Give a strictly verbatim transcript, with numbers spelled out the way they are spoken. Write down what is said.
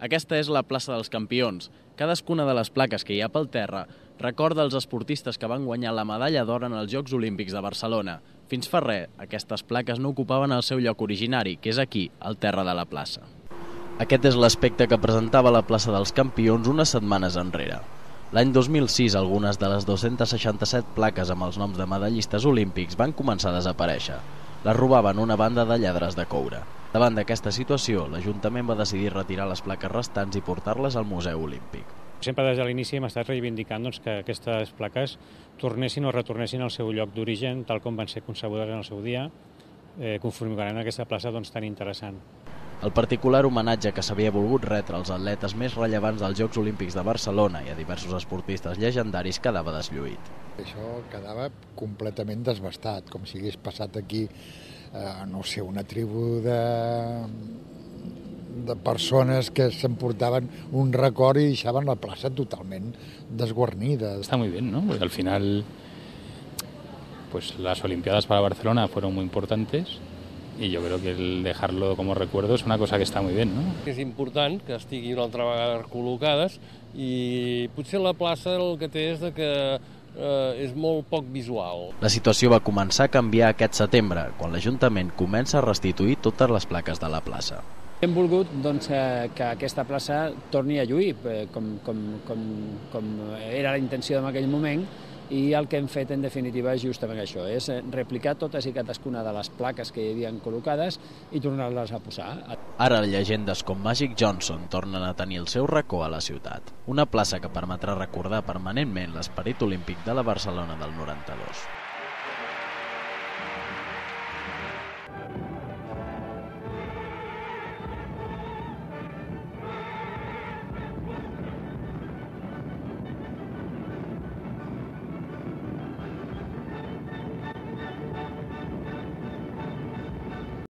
Aquesta és la plaça dels Campions. Cadascuna de les plaques que hi ha pel terra recorda els esportistes que van guanyar la medalla d'or en els Jocs Olímpics de Barcelona. Fins fa res, aquestes plaques no ocupaven el seu lloc originari, que és aquí, al terra de la plaça. Aquest és l'aspecte que presentava la plaça dels Campions unes setmanes enrere. L'any dos mil sis, algunes de les dos-centes seixanta-set plaques amb els noms de medallistes olímpics van començar a desaparèixer. Les robaven una banda de lladres de coure. Davant d'aquesta situació, l'Ajuntament va decidir retirar les plaques restants i portar-les al Museu Olímpic. Sempre des de l'inici hem estat reivindicant doncs, que aquestes plaques tornessin o retornessin al seu lloc d'origen, tal com van ser concebudes en el seu dia, eh, configurant aquesta plaça doncs, tan interessant. El particular homenatge que s'havia volgut retre als atletes més rellevants dels Jocs Olímpics de Barcelona i a diversos esportistes llegendaris quedava deslluït. Això quedava completament desbastat, com si hagués passat aquí, eh, no sé, una tribu de, de persones que s'emportaven un record i deixaven la plaça totalment desguarnida. Está muy bien, ¿no? Porque al final, pues las Olimpiadas para Barcelona fueron muy importantes. I jo crec que el dejarlo como recuerdo és una cosa que està molt bé, no? És important que estiguin una altra vegada col·locades i potser la plaça el que té és que eh, és molt poc visual. La situació va començar a canviar aquest setembre, quan l'Ajuntament comença a restituir totes les plaques de la plaça. Hem volgut doncs, que aquesta plaça torni a lluir, com, com, com, com era la intenció en aquell moment, i el que hem fet, en definitiva, és justament això, és replicar totes i cadascuna de les plaques que hi havien col·locades i tornar-les a posar. Ara llegendes com Magic Johnson tornen a tenir el seu racó a la ciutat, una plaça que permetrà recordar permanentment l'esperit olímpic de la Barcelona del noranta-dos.